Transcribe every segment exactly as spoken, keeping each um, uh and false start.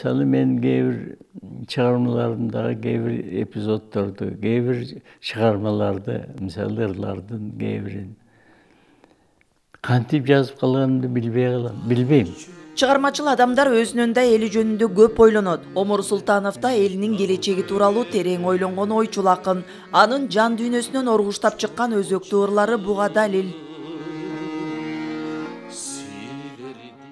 Мисалы мен кээ бир чыгармаларымдагы кээ бир эпизоддорду, кээ бир чыгармаларды, мисалы ырлардын кээ бирин кантип жазып калганымды билбей калам, билбейм. Чыгармачыл адамдар өзүнүн да эли жөнүндө көп ойлонот. Омур Султанов да элинин келечеги тууралуу терең ойлонгон ойчул акын. Анын жан дүйнөсүнөн оргуштап чыккан өзөктүү ырлары буга далил.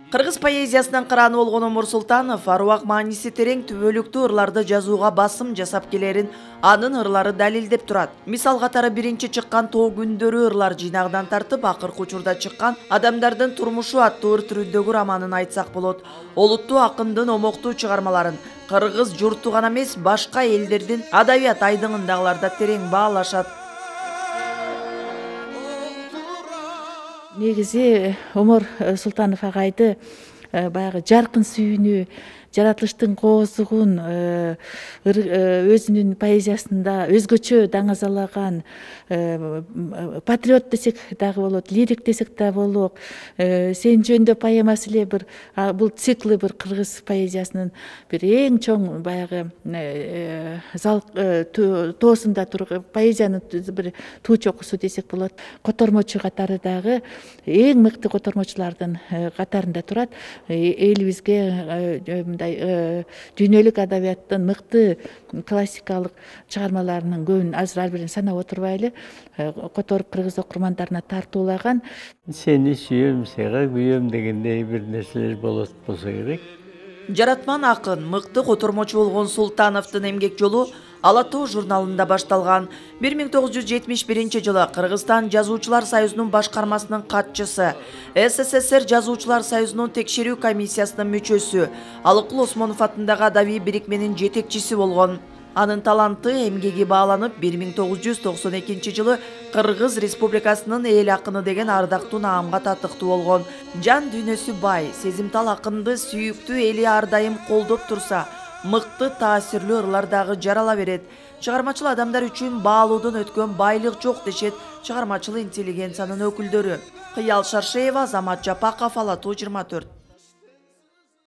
Кыргыз поэзиясынын кыраны болгон Омур Султанов аруак мааниси терең түбөлүктүү ырларды жазууга басым жасап келерин анын ырлары далилдеп турат. Мисал катары биринчи чыккан Тоо күндөрү ырлар жыйнагынан тартып, акыркы учурда чыккан Адамдардын турмушу аттуу ыр түрүндөгү романын айтсак болот. Олуттуу акындын омоктуу чыгармаларын кыргыз журту гана эмес, башка элдердин адабият айдыңындагылар да терең баалашат. Негизи Омур Султанов агайды баягы жаркын сүйүүнү, жаратылыштын коозугун өзүнүн поэзиясында өзгөчө даңазалаган патриот десек дагы болот, лирик десек да болот. Сен жөнүндө поэмасы эле бир бул циклы бир кыргыз поэзиясынын бир эң чоң баягы тоосунда турган поэзиянын бир туу чокусу десек болот. Котормочу катары дагы эң мыкты котормочулардын катарында турат. Элибизге мындай дүйнөлүк адабияттын мыкты классикалык чыгармаларынын көбүн азыр ар бирин санап отурбайлы которуп кыргыз окурмандарына тартуулаган. Сени сүйөм, сага күйөм дегендей бир нерселер болот болсо керек. Жаратман акын, мыкты котормочу болгон Султановдун эмгек жолу Ала Тоо журналында башталган. бир миң тогуз жүз жетимиш биринчи жылы Кыргызстан Жазуучулар союзунун башкармасынын катчысы, СССР Жазуучулар союзунун текшерүү комиссиясынын мүчөсү, Алыкул Осмонов атындагы адабий бирикменин жетекчиси болгон. Анын таланты, эмгеги бааланып, бир миң тогуз жүз токсон экинчи жылы Кыргыз Республикасынын эл акыны деген ардактуу наамга татыктуу болгон. Жан дүйнөсү бай, сезимтал акынды сүйүктүү эли ар дайым колдоп турса, мыкты таасирлүү ырлар дагы жарала берет. Чыгармачыл адамдар үчүн баалуудон өткөн байлык жок дешет чыгармачыл интеллигенциянын өкүлдөрү. Кыял Шаршеева, Азамат Жапаков, Ала Тоо жыйырма төрт.